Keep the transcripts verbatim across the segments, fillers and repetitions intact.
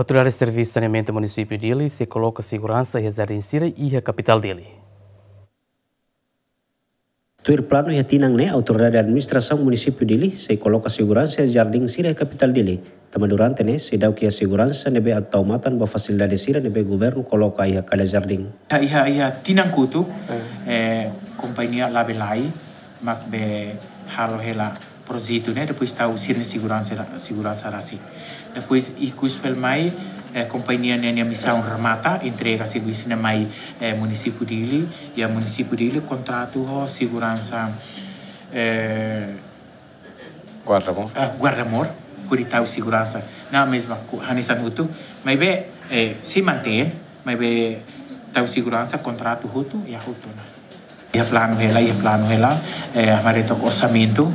Autoridade Servisu Saneamentu Munisípiu Dili sei koloka seguransa iha jardín sira iha kapitál Dili. Tuir planu iha tinan ne'e, Autoridade Administrasaun Munisípiu Dili sei koloka seguransa iha jardín sira iha kapitál Dili. Tanba durante ne'e seidauk iha seguransa ne'ebé atu tau matan ba fasilidade sira ne'ebé governu koloka iha kada jardín. Iha, iha, iha tinan kotuk, eh, kompañia Labelai mak be halo hela projetu ne'e, depois tau sira-nia seguransa, seguransa rasik. Depois ikus pelu mai, eh, kompañia ne'e nia misaun remata, entrega servisu ne'e mai, eh, Munisípiu Dili, iha Munisípiu Dili kontratu ho seguransa, eh, Guarda-mor. Ah, guarda-mor, hodi tau seguransa. Na mesma ku-, hanesan hotu, maibé, eh, sei mantein, maibé tau seguransa kontratu hotu, iha hotu ona. Iha planu hela, iha planu hela, eh, hamaretok orsamentu,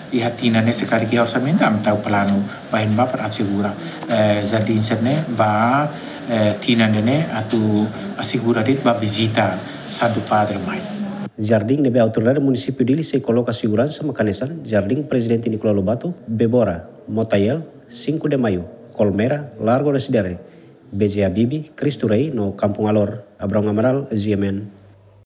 iha tinan ne'e se karik iha orsamentu, ami tau planu ba ne'ebá para asegura, eh, jardín sira-ne'e, ba, eh, tinan ne'e atu asegura de'it ba vizita Santu Padre mai. Jardín ne'ebé Autoridade Munisípiu Dili sei koloka seguransa mak hanesan Jardín Prezidente Nicolau Lobato, Bebora, Motael, Cinco de Maio, Colmera, Largo Residere, B J Habibie, Cristo Rei no Kampung Alor. Abrão Amaral, G M N,